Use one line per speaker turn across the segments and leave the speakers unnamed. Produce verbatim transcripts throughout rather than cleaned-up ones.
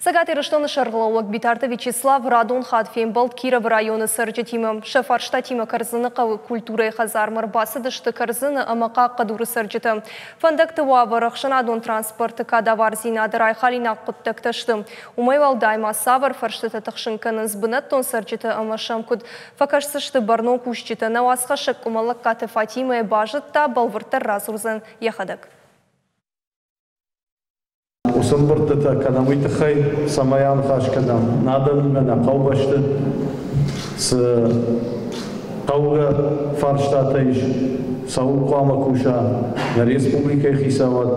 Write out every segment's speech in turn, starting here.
Цӕгат Ирыстоны сӕргълӕууӕг Битарты Вячеслав радон хатт фембӕлд Кировы районы цӕрджытимӕ. Сӕ фарстатимӕ Кӕрдзыны хъӕуы культурӕйы хӕдзармӕ ӕрбацыдысты Кӕрдзыны ӕмӕ Хъахъхъӕдуры цӕрджытӕ. Фӕндӕгты уавӕр, ӕхсӕнадон транспорты кадавардзинады райхалинаг хъуыддӕгтӕ сты. Уымӕй уӕлдай ма цавӕр фӕрстытӕ тыхсын кӕнынц бынӕттон цӕрджытӕ ӕмӕ сӕм куыд фӕкӕсдзысты бӕрнон кусджытӕ, нӕ уацхӕссӕг Къуымӕллӕгкаты Фатимӕ базыдта, бӕлвырддӕр радзурдзӕн йӕхӕдӕг.
Уыцы ӕмбырдтытӕ кӕнӕм уый тыххӕй, цӕмӕй аныхас кӕнӕм нӕ адӕмимӕ, нӕ хъӕубӕсты цы хъӕугӕ фарстатӕ ис, цӕуыл хъуамӕ куса нӕ республикӕйы хицауад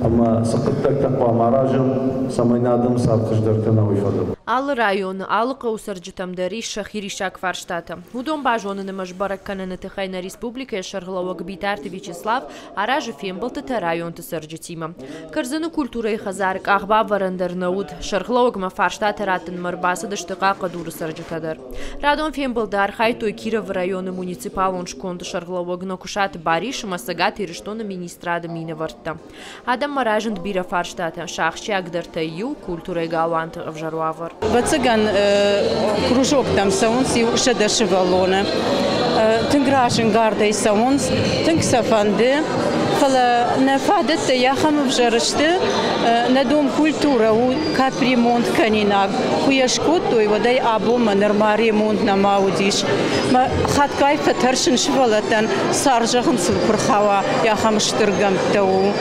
ӕмӕ цы хъуыддӕгтӕ хъуамӕ аразӕм, цӕмӕй нӕ адӕмы цард хуыздӕр кӕна, уый фӕдыл.
Алы районы, алы хъӕуы цӕрджытӕм дӕр ис сӕхи риссаг фарстатӕ. Уыдон базоныны ӕмӕ сбӕрӕг кӕныны тыххӕй нӕ республикӕйы сӕргълӕууӕг Битарты Вячеслав аразы фембӕлдтытӕ районты цӕрджытимӕ. Кӕрдзыны культурӕйы хӕдзары къахбавӕрӕн дӕр нӕ уыд. Сӕргълӕууӕгмӕ фарстатӕ раттынмӕ ӕрбацыдысты Хъахъхъӕдуры цӕрджытӕ дӕр. Радон фембӕлды архайдтой Кировы районы муниципалон сконды сӕргълӕууӕг Нокуысаты Барис ӕмӕ Цӕгат Ирыстоны министрады минӕвӕрттӕ. Адӕммӕ разынд бирӕ фарстатӕ, сӕ ахсджиагдӕртӕй иу – культурӕйы галуанты ӕвзӕр уавӕр.
Ӕвӕццӕгӕн кружоктӕм цӕуынц иу сӕдӕ сывӕллоны. Тынг разӕнгардӕй цӕуынц, тынг сӕ фӕнды, фӕлӕ нӕ фадӕттӕ ахӕм ӕвзӕр сты, нӕ дом культурӕ у капремонт кӕнинаг. Куы йӕ скодтой, уӕд ӕй абонмӕ нырма ремонт нӕма уыдис. Мӕ хатгай фӕтӕрсын сывӕллӕттӕн, цар зӕгъын сыл куы рхауа, ахӕм стыр гӕмттӕ у.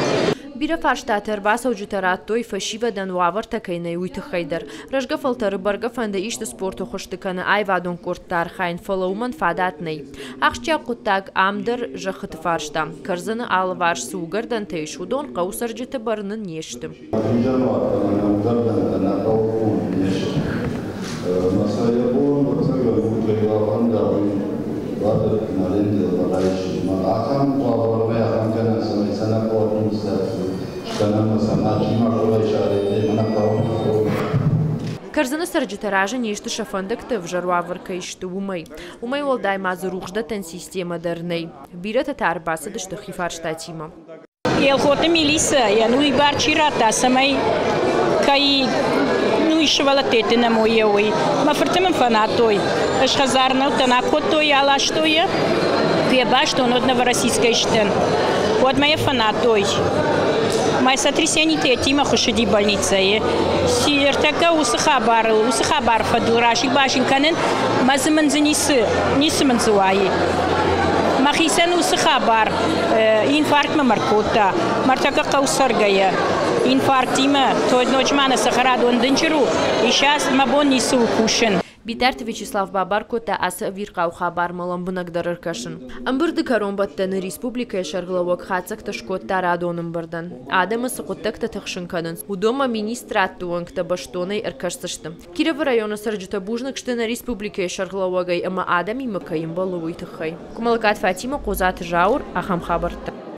Бирӕ фарстатӕ ӕрбацӕуджытӕ радтой, фӕсивӕдӕн уавӕртӕ кӕй нӕй, уый тыххӕй дӕр. Рӕзгӕ фӕлтӕры бӕргӕ фӕнды исты спорты хуызты кӕнӕ аивадон къордты архайын, фӕлӕ уымӕн фадат нӕй. Ахсджиаг хъуыддаг ам дӕр зӕххыты фарста. Кӕрдзыны алыварс цы уыгӕрдӕнтӕ ис, уыдон хъӕуы цӕрджыты бӕрны не сты.
Хизӕнуат ӕмӕ нӕ уыгӕрдӕнтӕ нӕ хъӕуы конд не сты. Ӕмӕ сӕ йӕ бон ӕвӕццӕгӕн у, кӕй бафӕнда, уый бадӕттын арендӕмӕ райсын. Ӕмӕ ахӕм уавӕрмӕ ахӕм гӕнӕн, цӕмӕй сӕ нӕ хъӕуы администраци скӕнӕм ӕмӕ сӕ мачи ма райса арендӕйы, нӕ хъӕуы.
Кӕрдзыны цӕрджытӕ разы не сты сӕ фӕндӕгты ӕвзӕр уавӕр кӕй сты, уымӕй. Уымӕй уӕлдай ма дзы рухсдӕттӕн системӕ дӕр нӕй. Бирӕтӕ та ӕрбацыдысты хи фарстатимӕ.
Елхоты милицӕйӕн уый бар чи радта, цӕмӕй кӕй ну сывӕллӕтты нӕмой, уый. Мӕ фырты мын фӕнадтой. Ӕз хӕдзар нӕутӕн акодтой, аластой йӕ. Куы йӕ бастон, уӕд Новороссийскӕй сдӕн. Уӕд мӕ йӕ фӕнадтой. Мӕ сотрясениетимӕ хуыссыди больницӕйы. Ӕртӕккӕ уыцы хабарыл, уыцы хабар фӕдыл расик-басик кӕнын, мӕ дзы мын дзы ницы, ницы мын дзы уайы. Мӕхицӕн уыцы хабар инфарктмӕ мӕ ркодта. Мӕ ӕртӕккӕ хъӕу цӕргӕйӕ. Инфарктимӕ, ноджы ма нӕ цӕхӕрадон дынджыр у, исас мӕ бон ницы у кусын.
Битарты Вячеслав бабар кодта ацы ӕвирхъау хабармӕ лӕмбынӕгдӕр ӕркӕсын. Ӕмбырды кӕронбӕттӕны республикӕйы сӕргълӕууӕг хатдзӕгтӕ скодта радон ӕмбырдӕн. Адӕмы цы хъуыддӕгтӕ тыхсын кӕнынц, уыдонмӕ министрадты уӕнгтӕ бӕстонӕй ӕркӕсдзысты. Кировы районы цӕрджытӕ бузныг сты нӕ республикӕйы сӕргълӕууӕгӕй ӕмӕ адӕмимӕ кӕй ӕмбӕлы, уый тыххӕй. Къуымӕллӕгкаты Фатимӕ, Хъодзаты Зауыр, ахӕм хабӕрттӕ.